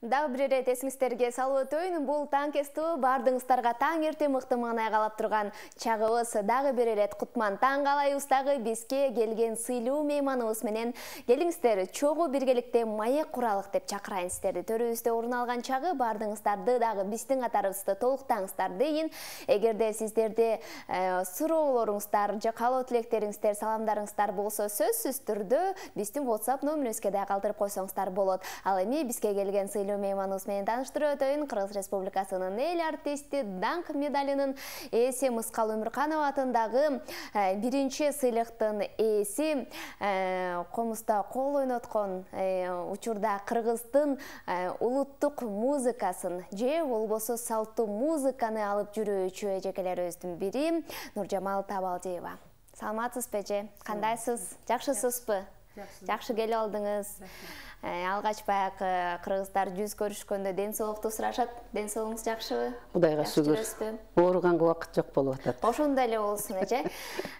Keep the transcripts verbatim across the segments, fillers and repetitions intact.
Дагы бир ирет эсиңиздерге салып өтөйүн, бул таң кестүү баардыгыңыздарга таң эрте мыкты маанай калап турган чагыбыз. Дагы бир ирет кутман таң калайбыздагы бизге келген сыйлуу мейманыбыз менен келиңиздер чогуу биргеликте маек куралык деп чакырайын сиздерди. Төрүбүздө орун алган чагы баардыгыңыздарды дагы биздин катарыбызды толуктаңыздар дейин. Эгерде сиздерде суроолоруңуздар же каалоо тилектериңиздер, саламдарыңыздар болсо сөзсүз түрдө биздин WhatsApp номерибизге да калтырып койсоңуздар болот. Ал эми бизге келген сыйлуу мейманыбыз менен тааныштырып өтөйүн. Кыргыз Республикасынын эл артисти, даңк медалинин ээси Мыскал Өмүрканова атындагы биринчи сыйлыктын ээси, комузда кол ойноткон учурда Кыргыздын улуттук музыкасын же болбосо салттуу музыканы алып жүрүүчү эжекелерибиздин бири Нуржамал Табалдиева. Саламатсызбы эже? Кандайсыз? Жакшысызбы? Жакшы келип алдыңыз. Алгач баягы кыргыздар жүз көрүшкөндө ден соолукту сурашат. Ден соолугуңуз жакшыбы? Кудайга шүгүр. Ооруганга убакыт жок болуп атат. Ошондой эле болсун эже.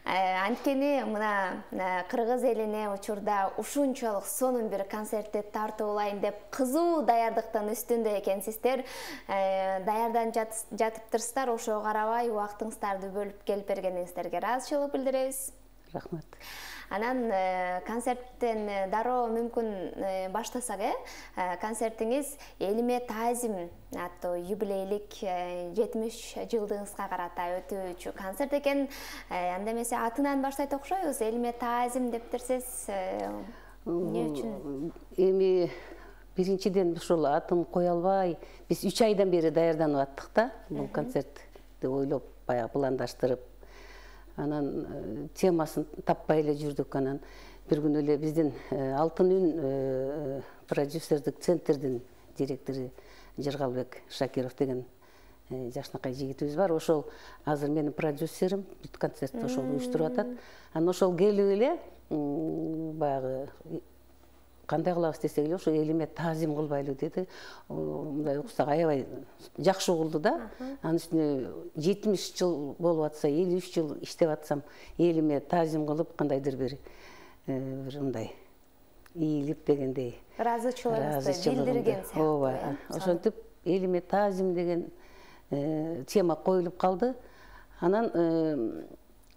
Анткени мына кыргыз элине учурда ушунчалык сонун бир концертти тартуулайын деп кызуу даярдыктын үстүндө экенсиздер. Даярданып жатыптырсыздар, ошого карабай убактыңыздарды бөлүп келип бергениңиздерге ыраазычылык билдиребиз. Рахмат. Анан концерттен дароо мүмкүн баштасак, э? Концертиңиз Элиме таазим аттуу юбилейлик жетимиш жылдыгыңызга карата өтүүчү концерт экен. Анда эмесе атынан баштайт окшойбуз. Элиме таазим дептирсиз эмне үчүн? Эми биринчиден ушул атын кое албай, биз үч айдан бери даярданып аттык да, бул концертти ойлоп, баягы пландаштырып. Анан темасын таппай эле жүрдүк. Анан бир күнү эле биздин Алтын үн продюсердик центрдин директору Жыргалбек Шакиров деген жакшынакай жигитибиз бар. Ошол азыр менин продюсерим, бүт концертти ошол уюштуруп атат. Анан ошол келип эле баягы кандай кылабыз десек эле ошо элиме таазим кылбайлы деди. Мындай уксак аябай жакшы угулду да. Анын үстүнө жетимиш жыл болуп атса, элүү үч жыл иштеп атсам, элиме таазим кылып кандайдыр бир бир мындай ийилип дегендей ыраазычылыгыңызды билдирген сыяктуу. Ооба. Ошентип элиме таазим деген тема коюлуп калды. Анан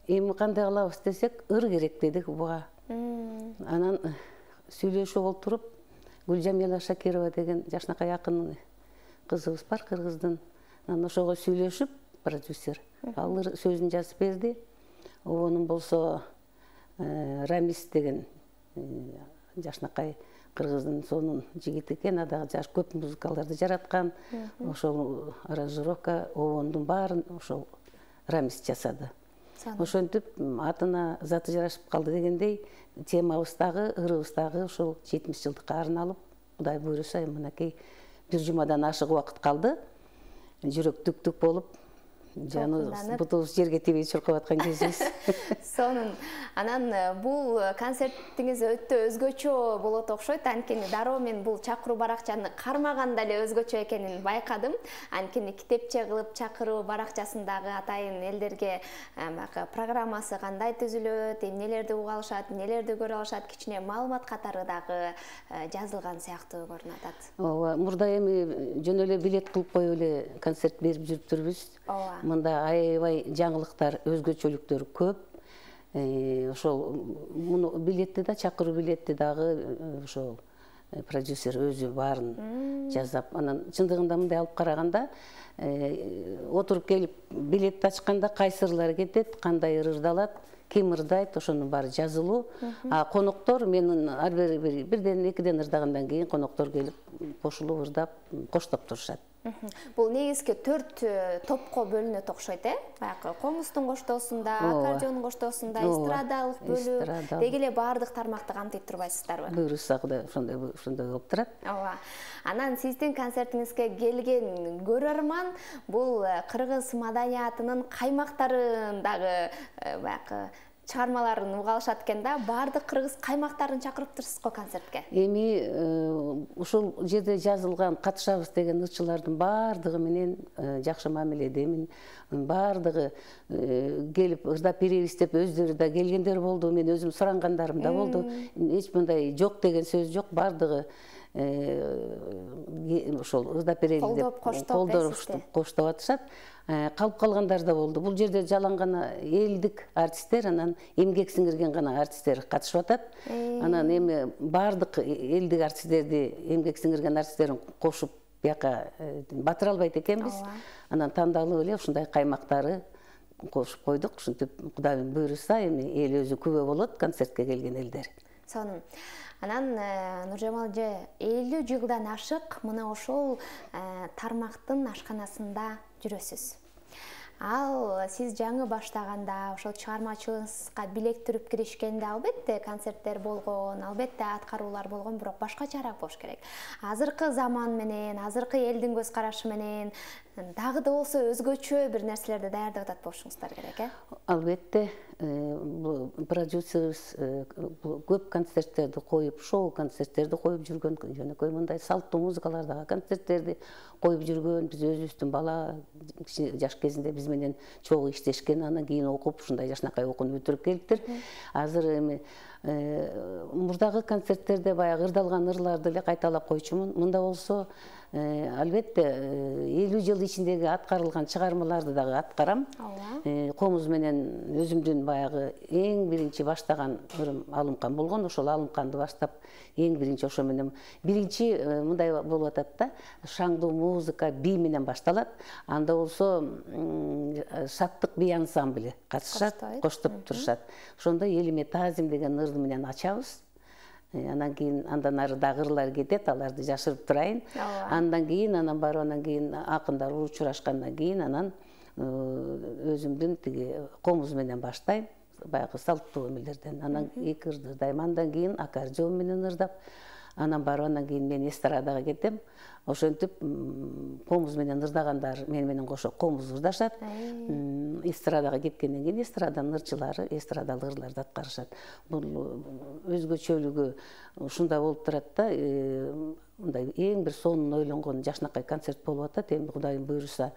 эми кандай кылабыз десек, ыр керек дедик буга. Анан сүйлөшүп олтуруп, Гүлжамила Шакирова деген жакшынакай акын кызыбыз бар Кыргыздын. Анан ошого сүйлөшүп, продюсер ал сөзүн жазып берди. Обонун болсо Рамис деген жакшынакай Кыргыздын сонун жигит экен, адагы жаш көп музыкаларды жараткан. Ошол аранжировка обондун баарын ошол Рамис жасады. Ошентип атына заты жарашып калды дегендей, темабыз дагы, ырыбыз дагы ошол жетимиш жылдыкка арналып, Кудай буйруса, мынакей бир жумадан ашык убакыт калды. Жүрөк түк-түк болуп, жаныбыз бутубуз жерге тийбей чуркап аткан кезибиз. Сонун. Анан бул концертиңиз өтө өзгөчө болот окшойт. Анткени дароо мен бул чакыруу баракчаны кармаганда эле өзгөчө экенин байкадым. Анткени китепче кылып чакыруу баракчасындагы атайын элдерге баягы программасы кандай түзүлөт, эмнелерди уга алышат, эмнелерди көрө алышат, кичине маалымат катары дагы жазылган сыяктуу көрүнүп атат. Ооба, мурда эми жөн эле билет кылып коюп эле концерт берип жүрүптүрбүз. Мында аябай жаңылыктар, өзгөчөлүктөр көп. Ошол муну билетти да, чакыруу билетти дагы ошол продюсер өзү баарын жазап, анан чындыгында мындай алып караганда, отуруп келип билетти ачканда кайсы ырлар кетет, кандай ыр ырдалат, ким ырдайт, ошонун баары жазылуу. А коноктор менин ар бир бирден экиден ырдагандан кийин коноктор келип кошулуп ырдап, коштоп турушат. Бул негизги төрт топко бөлүнөт окшойт, э? Баягы комуздун коштоосунда, аккордеондун коштоосунда, эстрадалык бөлүк, деги эле баардык тармакты камтыйт турбайсыздарбы? Буйруса Кудай ошондой ошондой болуп турат. Ооба. Анан сиздин концертиңизге келген көрөрман бул кыргыз маданиятынын каймактарын дагы баягы чыгармаларын уга алышат экен да, баардык кыргыз каймактарын чакырыптырсыз го концертке. Эми ушул жерде жазылган катышабыз деген ырчылардын баардыгы менен жакшы мамиледемин. Баардыгы келип ырдап беребиз деп өздөрү да келгендер болду. Мен өзүм сурангандарым да болду. Эч мындай жок деген сөз жок. Баардыгы ошол ырдап берели деп колдоп коштоп атышат. Калып калгандар да болду. Бул жерде жалаң гана элдик артисттер, анан эмгек сиңирген гана артисттер катышып атат. Анан эми баардык элдик артисттерди, эмгек сиңирген артисттерин кошуп бияка батыра албайт экенбиз. Анан тандалып эле ушундай каймактары кошуп койдук. Ушинтип Кудайдын буйруса эми эл өзү күбө болот концертке келген элдер. Сонун. Анан Нуржамал эже элүү жылдан ашык мына ошол тармактын ашканасында жүрөсүз. Ал сиз жаңы баштаганда ошол чыгармачылыгыңызга билек түрүп киришкенде албетте концерттер болгон, албетте аткаруулар болгон, бирок башкачараак болуш керек. Азыркы заман менен, азыркы элдин көз карашы менен дагы да болсо өзгөчө бир нерселерди даярдап атат болушуңуздар керек, э? Албетте, продюсерибиз көп концерттерди коюп, шоу концерттерди коюп жүргөн, жөнөкөй мындай салттуу музыкалардагы концерттерди коюп жүргөн. Биз өзүбүздүн бала жаш кезинде биз менен чогуу иштешкен, анан кийин окуп, ушундай жашынакай окууну бүтүрүп келиптир. Азыр эми мурдагы концерттерде баягы ырдалган ырларды эле кайталап койчумун. Мында болсо албетте элүү жыл ичиндеги аткарылган чыгармаларды дагы аткарам. Комуз менен өзүмдүн баягы эң биринчи баштаган ырым Алымкан болгон. Ошол Алымканды баштап эң биринчи ошо менен биринчи мындай болуп атат да, шаңдуу музыка, би менен башталат. Анда болсо Шаттык би ансамблі катышат, коштоп турушат. Ошондо Элиме Тазим деген ырды менен ачабыз. Анан кийин андан ары дагы ырлар кетет, аларды жашырып турайын. Андан кийин анан барып анан кийин акындар учурашкандан кийин анан өзүмдүн тиги комуз менен баштайм, баягы салттуу эмелерден. Анан эки ырды ырдайм, андан кийин аккордеон менен ырдап, анан барып андан кийин мен эстрадага кетем. Ошентип комуз менен ырдагандар мен менен кошо комуз ырдашат. Эстрадага кеткенден кийин эстраданын ырчылары эстрадалык ырларды аткарышат. Бул өзгөчөлүгү ушунда болуп турат да, мындай эң бир сонун ойлонгон жашынакай концерт болуп атат. Эми Кудайдын буйруса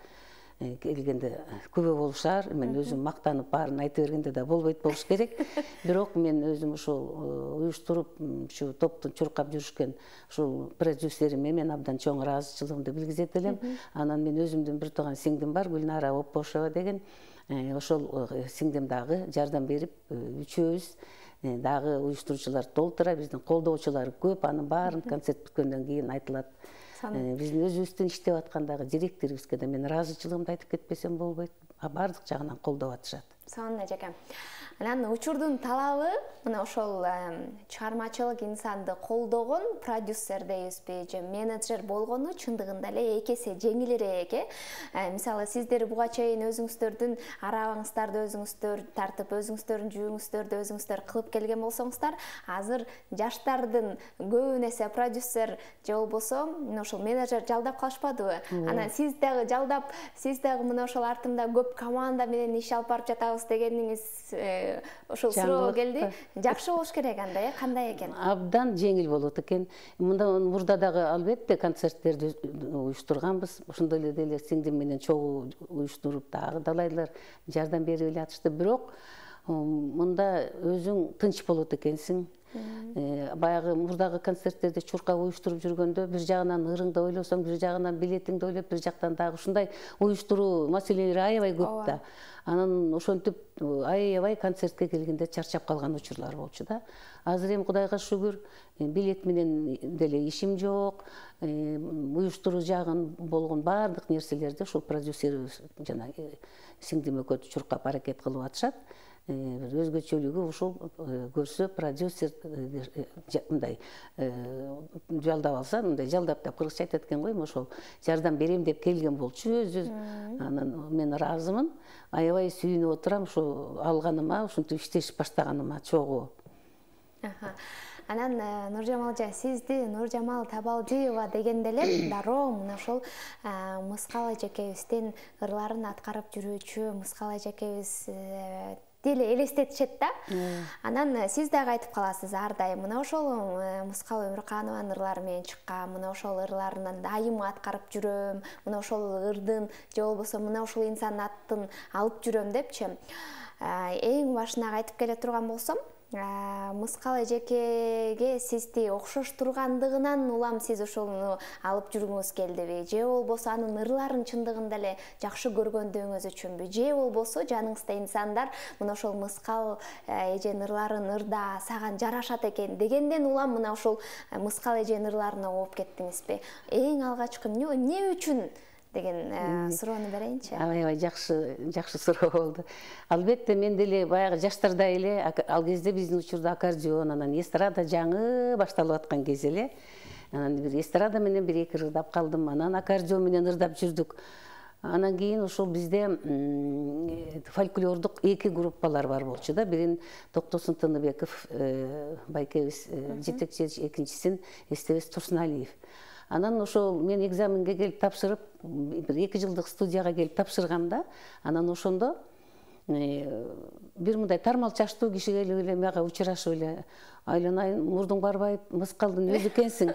келгенде күбө болушар. Мен өзүм мактанып баарын айта бергенде да болбойт болуш керек. Бирок мен өзүм ушул уюштуруп, ушу топтун чуркап жүрүшкөн ушул продюсериме мен абдан чоң ыраазычылыгымды билгизет элем. Анан мен өзүмдүн бир тууган сиңдим бар, Гүлнара Оппошева деген. Ошол сиңдим дагы жардам берип, үчөөбүз дагы уюштуруучуларды толтура, биздин колдоочулар көп. Анын баарын концерт бүткөндөн кийин айтылат. Биздин өзүбүздүн иштеп аткандагы директорубузга да мен ыраазычылыгымды айтып кетпесем болбойт. Баардык жагынан колдоп атышат. Сонун эжеке. Анан учурдун талабы мына ошол чыгармачылык инсанды колдогон продюсер дейбизби же менеджер болгону чындыгында эле эки эсе жеңилирээк, э? Мисалы сиздер буга чейин өзүңүздөрдүн арабыңыздарды өзүңүздөр тартып, өзүңүздөрдүн жүүңүздөрдү өзүңүздөр кылып келген болсоңуздар, азыр жаштардын көбүн эсе продюсер же болбосо ошол менеджер жалдап калышпадыбы? Анан сиз дагы жалдап, сиз дагы мына ошол артымда көп команда менен иш алып барып жатабыз дегениңиз ошол суроо келди. Жакшы болуш керек анда, э? Кандай экен? Абдан жеңил болот экен. Мында мурда дагы албетте концерттерди уюштурганбыз. Ошондой эле деле сиңдим менен чогуу уюштуруп дагы далайлар жардам берип эле атышты. Бирок мында өзүң тынч болот экенсиң. Баягы мурдагы концерттерди чуркап уюштуруп жүргөндө бир жагынан ырыңды ойлосоң, бир жагынан билетиңди ойлоп, бир жактан дагы ушундай уюштуруу маселелери аябай көп да. Анан ошентип аябай концертке келгенде чарчап калган учурлар болчу да. Азыр эми Кудайга шүгүр, билет менен деле ишим жок. Уюштуруу жагын болгон баардык нерселерди ушул продюсерибиз жана сиңдим экөө чуркап аракет кылып атышат. Өзгөчөлүгү ушул көрсө продюсер мындай жалдап алса, мындай жалдап деп кыргызча айтат экен го, ошол жардам берем деп келген болчу өзү. Анан мен ыраазымын, аябай сүйүнүп отурам ушу алганыма, ушинтип иштешип баштаганыма чогуу. Анан Нуржамал эже, сизди Нуржамал Табалдиева дегенде эле дароо мына ошол Мыскал эжекебиздин ырларын аткарып жүрүүчү Мыскал эжекебиз деле элестетишет да. Анан сиз дагы айтып каласыз ар дайым мына ошол Мыскал Өмүрканованын ырлары менен чыккан, мына ошол ырларынан дайым аткарып жүрөм, мына ошол ырдын же болбосо мына ошол инсандын атын алып жүрөм депчи. Эң башынан айтып келе турган болсом, Мыскал эжекеге сизди окшош тургандыгынан улам сиз ошону алып жүргүңүз келдиби? Же болбосо анын ырларын чындыгында эле жакшы көргөндүгүңүз үчүнбү? Же болбосо жаныңызда инсандар мына ошол мыскал эженин ырларын ырда саган жарашат экен дегенден улам мына ошол мыскал эженин ырларына ооп кеттиңизби? Эң алгачкы эмне үчүн деген суроону берейинчи. Аябай аябай жакшы жакшы суроо болду. Албетте мен деле баягы жаштарда эле ал кезде биздин учурда аккордеон, анан эстрада жаңы башталып аткан кез эле. Анан бир эстрада менен бир эки ырдап калдым, анан аккордеон менен ырдап жүрдүк. Анан кийин ошол бизде фольклордук эки группалар бар болчу да. Бирин Токтосун Тыныбеков байкебиз жетекчи, экинчисин Эстебес Турсуналиев. Анан ошол мен экзаменге келип тапшырып, бир эки жылдык студияга келип тапшыргамда, анан ошондо бир мындай тармал чачтуу киши келип эле мага учурашып эле, айланайын, мурдуң барбайбы, мыскалдын өзү экенсиң,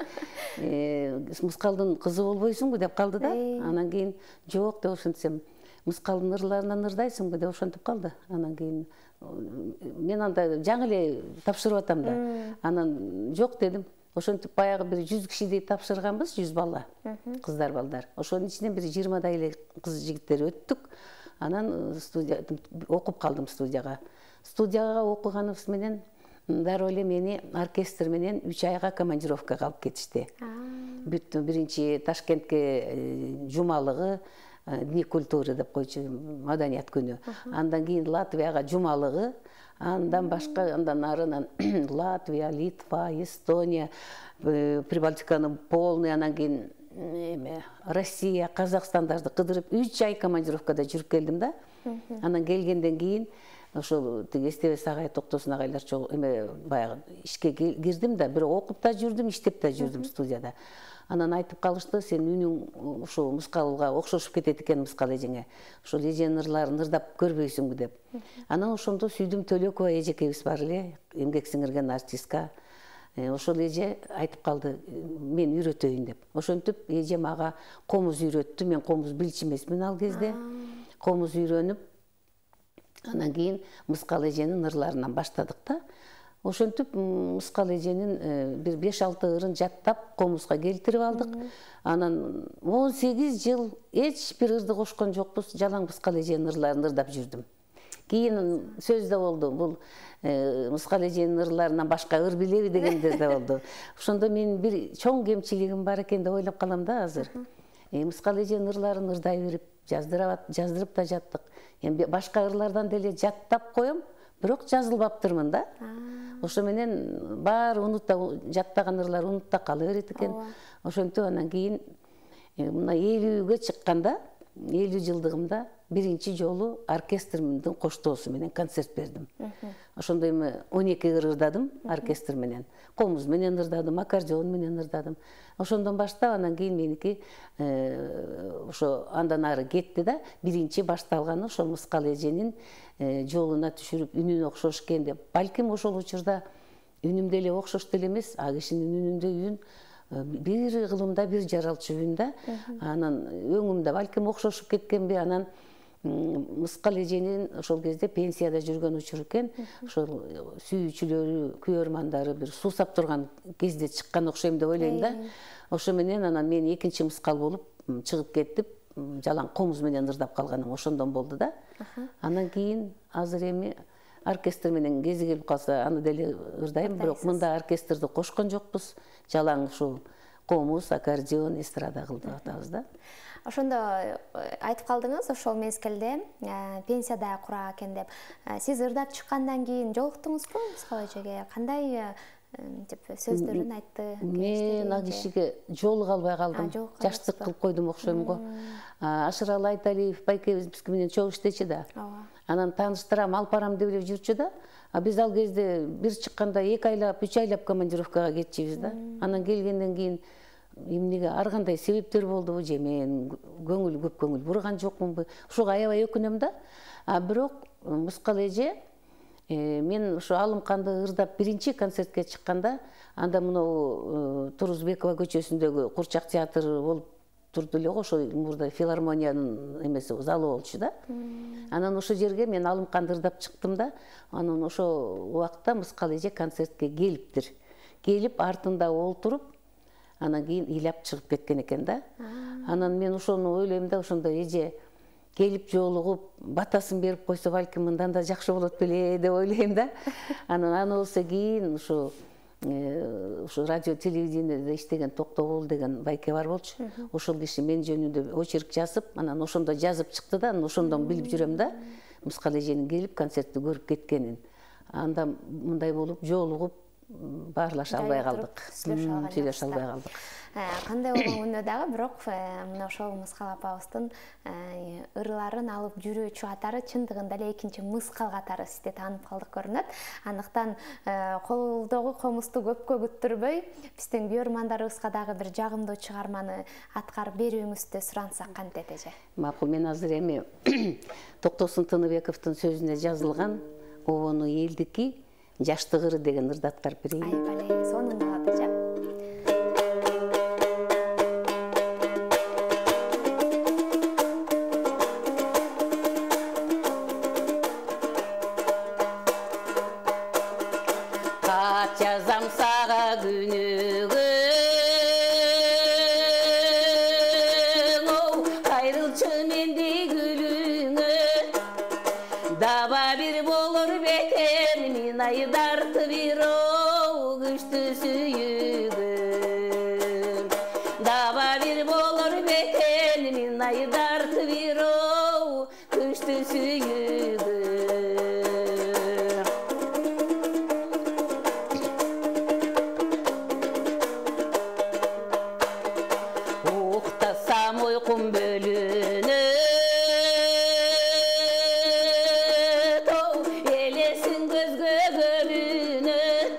мыскалдын кызы болбойсуңбу деп калды да. Анан кийин жок деп ошентсем, мыскалдын ырларынан ырдайсыңбы деп ошентип калды. Анан кийин мен анда жаңы эле тапшырып атам да. Анан жок дедим. Ошентип баягы бир жүз кишидей тапшырганбыз, жүз бала, кыздар балдар. Ошонун ичинен бир жыйырмадай эле кыз жигиттер өттүк. Анан студия окуп калдым студияга. Студияга окуганыбыз менен дароо эле мени оркестр менен үч айга командировкага алып кетишти. Бүттү биринчи Ташкентке жумалыгы, Дни культуры деп койчу, маданият күнү. Андан кийин Латвияга жумалыгы, андан башка, андан арынан Латвия, Литва, Эстония, Прибалтиканы полный, анан кийин Россия, Казакстандарды кыдырып үч ай командировкада жүрүп келдим да. Анан келгенден кийин ошол Эстебес агай, Токтосун агайлар эме баягы ишке кирдим да, бирок окуп да жүрдүм, иштеп да жүрдүм студияда. Анан айтып калышты, сен үнүң ошол мыскалга окшошуп кетет экен, мыскал эжеңе. Ошол эженин ырларын ырдап көрбөйсүңбү деп. Анан ошондо Сүйдүм Төлөкова эжекебиз бар эле, эмгек сиңирген артистка. Ошол эже айтып калды, мен үйрөтөйүн деп. Ошентип эже мага комуз үйрөттү. Мен комуз билчү эмесмин ал кезде. Комуз үйрөнүп, анан кийин мыскал эженин ырларынан баштадык да. Ошентип мыскал эженин бир беш алты ырын жаттап комузга келтирип алдык. Анан он сегиз жыл эч бир ырды кошкон жокпуз, жалаң мыскал эженин ырларын ырдап жүрдүм. Кийин сөз да болду, бул мыскал эженин ырларынан башка ыр билеби дегендер да болду. Ошондо мен бир чоң кемчилигим бар экен деп ойлоп калам да азыр. Мыскал эженин ырларын ырдай берип, жаздырып да жаттык. Эми башка ырлардан деле жаттап коем, бирок жазылбаптырмын да. Ошо менен баары унутта, жаттаган ырлар унутта кала берет экен. Ошентип анан кийин мына элүүгө чыкканда, элүү жылдыгымда биринчи жолу оркестримдин коштоосу менен концерт бердим. Ошондо эми он эки ыр ырдадым оркестр менен. Комуз менен ырдадым, аккордеон менен ырдадым. Ошондон баштап анан кийин меники ошо андан ары кетти да. Биринчи башталганы ошол мыскал эженин жолуна түшүрүп, үнүн окшош экен деп. Балким ошол учурда үнүм деле окшош деле эмес, а кишинин үнүндө үн бир кылымда бир жаралчу үн да. Анан өңүмдө балким окшошуп кеткенби, анан мыскал эженин ошол кезде пенсияда жүргөн учур экен. Ошол сүйүүчүлөрү, күйөрмандары бир суусап турган кезде чыккан окшойм деп ойлойм да. Ошо менен анан мен экинчи мыскал болуп чыгып кеттип, жалаң комуз менен ырдап калганым ошондон болду да. Анан кийин азыр эми оркестр менен кези келип калса, аны деле ырдайм, бирок мында оркестрди кошкон жокпуз. Жалаң ушул комуз, аккордеон, эстрада кылып атабыз да. Ошондо айтып калдыңыз, ошол мезгилде пенсияда кура экен деп. Сиз ырдап чыккандан кийин жолуктуңузбу мыскал эжеге? Кандай деп сөздөрүн айтты? Мен ал кишиге жолуга албай калдым. Жаштык кылып койдум окшойм го. Ашыралы Айталиев байкебиз биз менен чогуу иштечү да. Анан тааныштырам, алып барам деп эле жүрчү да. А биз ал кезде бир чыкканда эки айлап, үч айлап командировкага кетчүбүз да. Анан келгенден кийин эмнеге ар кандай себептер болдубу, же мен көңүл көп көңүл бурган жокмунбу? Ушуга аябай өкүнөм да. А бирок мыскал эже мен ошо Алымканды ырдап биринчи концертке чыкканда, анда мынау Турузбекова көчөсүндөгү Курчак театры болуп турду эле го, ошо мурда филармониянын эмеси залы болчу да. Анан ошол жерге мен алымканды ырдап чыктым да, анан ошол убакта Мыскал эже концертке келиптир. Келип артында олтуруп, анан кийин ыйлап чыгып кеткен экен да. Анан мен ошону ойлойм да, ошондо эже келип жолугуп, батасын берип койсо балким мындан да жакшы болот беле деп ойлойм да. Анан аны болсо кийин ушу ушу радио телевидениеде иштеген Токтогул деген байке бар болчу. Ошол киши мен жөнүндө очерк жазып, анан ошондо жазып чыкты да, анан ошондон билип жүрөм да, Мыскал эженин келип концертти көрүп кеткенин. Анда мындай болуп жолугуп баарлаша албай калдык. Сүйлөшө албай калдык. Кандай болгондо дагы, бирок мына ошол Мыскал апабыздын ырларын алып жүрүүчү катары чындыгында эле экинчи Мыскал катары сизде таанып калдык көрүнөт. Андыктан колдогу комузду көпкө күттүрбөй, биздин көрөрмандарыбызга дагы бир жагымдуу чыгарманы аткарып берүүңүздү сурансак кантет эже? Макул, мен азыр эми Токтосун Тыныбековдун сөзүнө жазылган Обону элдики Жаштык ыры деген ырды аткарып берейин. Ай, бале, сонун болот эже. Кат жазам сага күнүгү, кайрылчы менди гүлүңө, даба бир болор бекер мен айдартып бир күчтүү сүйүгүм, даба бир болор бекер мен айдартып бир күчтүү сүйүгүм. Уктасам ойкум бөлүнөт, элесин көзгө көрүнөт,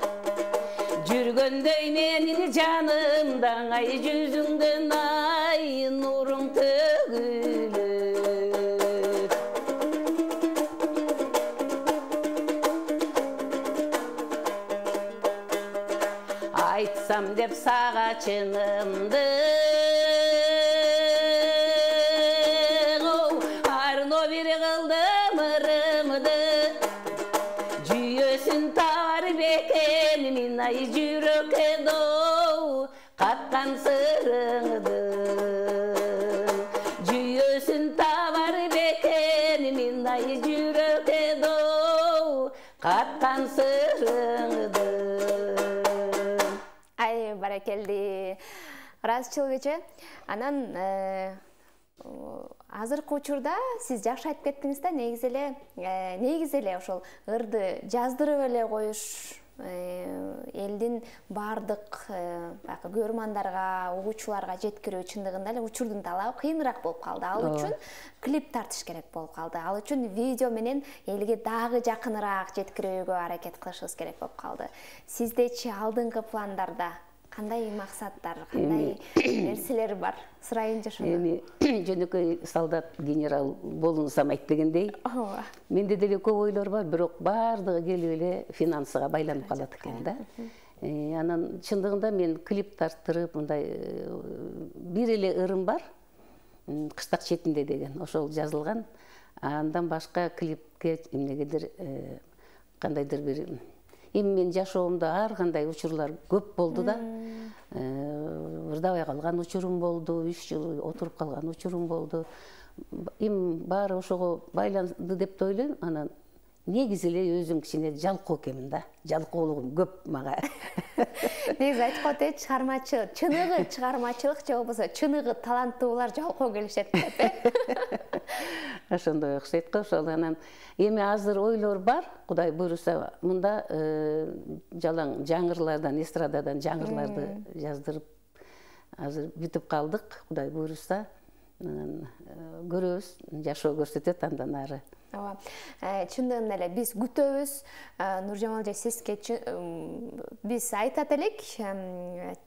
жүргөндөй менин жанымда ай жүзүңдөн ай нуруң төгүлөт. Айтсам деп сага чынымды, арно бир кылдым ырымды, жүйөсүн табар бекен мен ай жүрөккө доо каткан сырыңды, жүйөсүн табар бекен мен ай жүрөккө доо каткан сырыңды. Ай, баракелди. Ыраазычылык эже. Анан азыркы учурда сиз жакшы айтып кеттиңиз да, негизи эле негизи эле ошол ырды жаздырып эле коюш элдин баардык баягы көрөрмандарга, угуучуларга жеткирүү чындыгында эле учурдун талабы кыйыныраак болуп калды. Ал үчүн клип тартыш керек болуп калды. Ал үчүн видео менен элге дагы жакыныраак жеткирүүгө аракет кылышыбыз керек болуп калды. Сиздечи алдыңкы пландарда кандай максаттар, кандай нерселер бар? Сурайынчы ошону. Эми жөнөкөй солдат генерал болуңсам айтпегендей, менде деле көп ойлор бар, бирок баардыгы келип эле финансыга байланып калат экен да. Анан чындыгында мен клип тарттырып, мындай бир эле ырым бар, Кыштак четинде деген, ошол жазылган. Андан башка клипке эмнегедир кандайдыр бир эми мен жашоомдо ар кандай учурлар көп болду да. Ырдабай калган учурум болду, үч жыл отуруп калган учурум болду. Эми баары ошого байланды деп да ойлойм. Анан негизи эле өзүм кичине жалкоо экенмин да. Жалкоолугум көп мага. Негизи айтып коет э, чыгармачы, чыныгы чыгармачылык же болбосо чыныгы таланттуулар жалкоо келишет деп э. Ошондой окшойт го. Ошол анан эми азыр ойлор бар, Кудай буйруса, мында жалаң жаңырлардан, эстрададан жаңырларды жаздырып азыр бүтүп калдык, Кудай буйруса. Анан көрөбүз, жашоо көрсөтөт андан ары. Ооба. Чындыгында эле биз күтөбүз. Нуржамал эже, сизге биз айтат элек,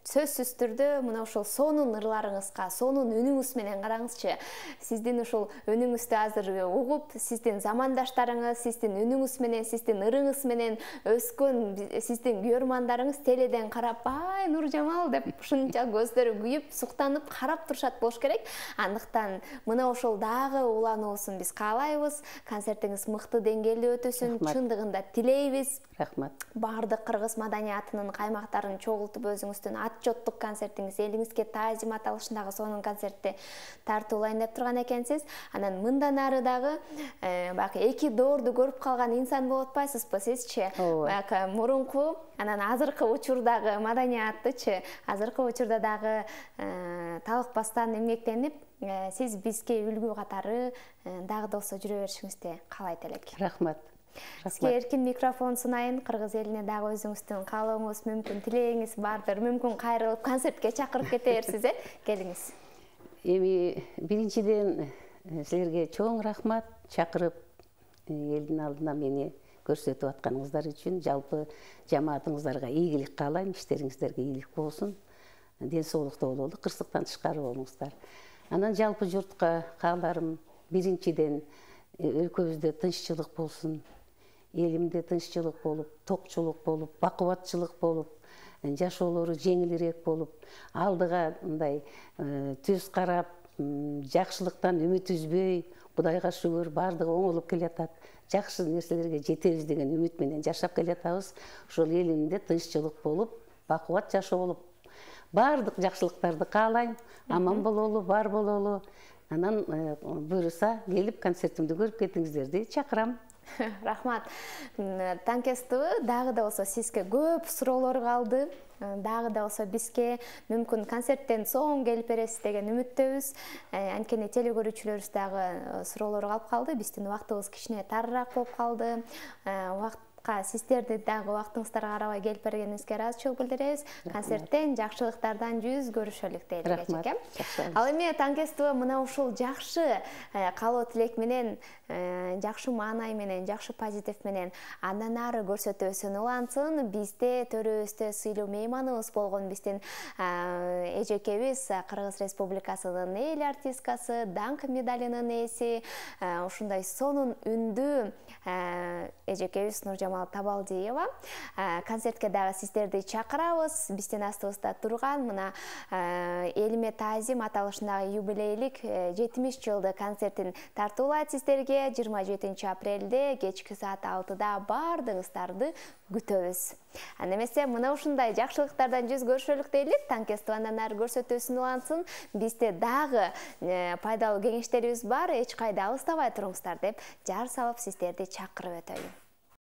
сөзсүз түрдө мына ушул сонун ырларыңызга, сонун үнүңүз менен караңызчы. Сиздин ушул үнүңүздү азыр угуп, сиздин замандаштарыңыз, сиздин үнүңүз менен, сиздин ырыңыз менен өскөн сиздин көрмандарыңыз теледен карап, ай Нуржамал деп ушунча көздөрү күйүп, суктанып карап турушат болуш керек. Андыктан мына ошол дагы улануусун биз каалайбыз. Концертиңиз мыкты деңгээлде өтөсүн, чындыгында тилейбиз. Рахмат. Баардык кыргыз маданиятынын каймактарын чогултуп өзүңүздүн отчеттук концертиңиз, элиңизге таазим аталышындагы сонун концертти тартуулайын деп турган экенсиз. Анан мындан ары дагы баягы эки доорду көрүп калган инсан болуп атпайсызбы сизчи? Баягы мурунку, анан азыркы учурдагы маданиятычы, азыркы учурда дагы талыкпастан эмгектенип, сиз бизге үлгү катары дагы да болсо жүрө беришиңизди каалайт элек. Рахмат. Сизге эркин микрофон сунайын. Кыргыз элине дагы өзүңүздүн каалооңуз, мүмкүн тилегиңиз бардыр. Мүмкүн кайрылып концертке чакырып кете берсиз, э? Келиңиз. Эми биринчиден силерге чоң рахмат, чакырып элдин алдына мени көрсөтүп атканыңыздар үчүн. Жалпы жамаатыңыздарга ийгилик каалайм, иштериңиздерге ийгилик болсун. Ден соолукта бололу, кырсыктан тышкары болуңуздар. Анан жалпы журтка кааларым биринчиден өлкөбүздө тынччылык болсун, элимде тынччылык болуп, токчулук болуп, бакубатчылык болуп, жашоолору жеңилирээк болуп, алдыга мындай түз карап, жакшылыктан үмүт үзбөй, Кудайга шүгүр, баардыгы оңолуп келатат. Жакшы нерселерге жетебиз деген үмүт менен жашап келатабыз. Ошол элимде тынччылык болуп, бакубат жашоо болуп, баардык жакшылыктарды каалайм. Аман бололу, бар бололу. Анан буюрса келип концертимди көрүп кетиңиздерди чакырам. Рахмат. Танкестүү дагы да болсо сизге көп суроолор калды. Дагы да болсо бизге мүмкүн концерттен соң келип бересиз деген үмүттөбүз. Анткени телекөрүүчүлөрүбүз дагы суроолор калып калды. Биздин убактыбыз кичине тарыраак болуп калды. Убакытка сиздерди дагы убактыңыздарга карабай келип бергениңизге ыраазычылык билдиребиз. Концерттен жакшылыктардан жүз көрүшөлүк дейли эчеке. Ал эми Танкестүү мына ушул жакшы каалоо тилек менен, жакшы маанай менен, жакшы позитив менен андан ары көрсөтүүсүн улансын. Бизде төрүбүздө сыйлуу мейманыбыз болгон биздин эжекебиз Кыргыз Республикасынын эл артисткасы, даңк медалынын ээси, ушундай сонун үндүү эжекебиз Нуржамал Табалдиева. Концертке дагы сиздерди чакырабыз. Биздин астыбызда турган мына элиме таазим аталышындагы юбилейлик жетимиш жылдык концертин тартуулайт сиздерге. жыйырма жетинчи апрелде кечки саат алтыда баардыгыңыздарды күтөбүз. Анда эмесе мына ушундай жакшылыктардан жүз көрүшөлүк дейли. Танкестүү андан ары көрсөтүүсүн улансын. Бизде дагы пайдалуу кеңештерибиз бар. Эч кайда алыстабай туруңуздар деп жар салып сиздерди чакырып өтөйүн.